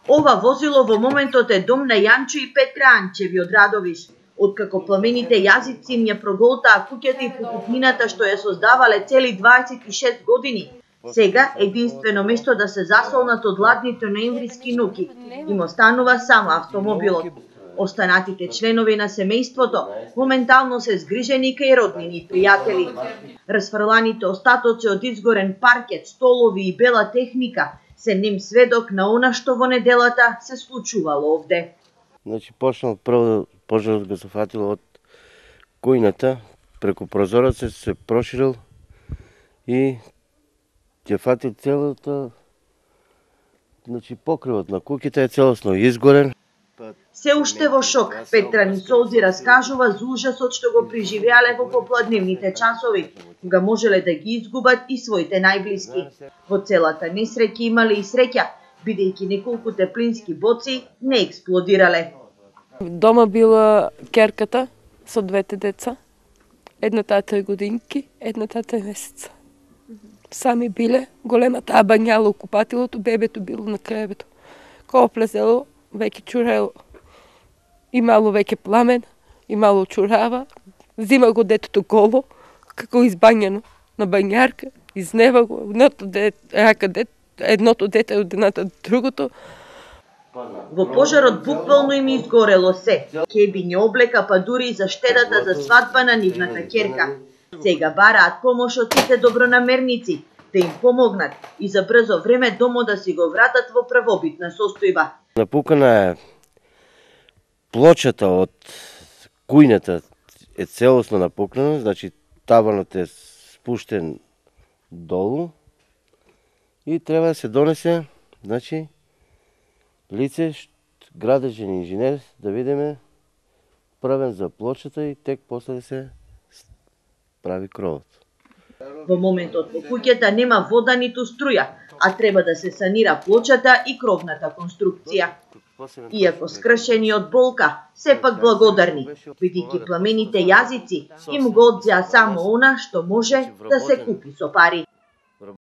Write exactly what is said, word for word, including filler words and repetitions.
Ова возило во моментот е дом на Јанчо и Петра Анчеви од Радовиш. Откако пламените јазици им ја проголтаа куќата и покупнината што ја создавале цели дваесет и шест години, сега единствено место да се засолнат од ладните ноемвриски ноќи им останува само автомобилот. Останатите членови на семејството моментално се згрижени кај роднини и пријатели. Расфрланите остатоци од изгорен паркет, столови и бела техника се нем сведок на она што во неделата се случувало овде. Значи почнал прво пожарот го зафатил од кујната, преку прозорецот се проширил и ќе фати целото, значи покривот на куќата е целосно изгорен. Се уште во шок, Петра ни солзи раскажува за ужасот што го преживеале во попладневните часови, кога можеле да ги изгубат и своите најблиски. Во целата несреќа имале и среќа, бидејќи неколку теплински боци не експлодирале. Дома била ќерката со двете деца, едната е три годинки, едната три месеца. Сами биле, големата абањала у купатилото, бебето било на кревето. Кога влезело, веќе чурело. Имало веќе пламен, имало чурава, зима го детето голо, како избањено на бањарка, изнева го, едното дете, рака дете, едното дете од едната другото. Во пожарот буквално им изгорело се. Кебиња, облека, па дури и заштедата за свадба на нивната ќерка. Сега бараат помош од сите добронамерници да им помогнат и за брзо време домот да си го вратат во првобитна состојба. Напукана е плочата од кујната е целосно напукнена, значи таванот е спуштен долу и треба да се донесе, значи, лице, градежен инженер, да видиме правен за плочата и тек после да се прави кровот. Во моментот во куќата нема вода ниту струја, а треба да се санира плочата и кровната конструкција. Иако скршени од болка, сепак благодарни, бидејќи пламените јазици им го одзеа само она што може да се купи со пари.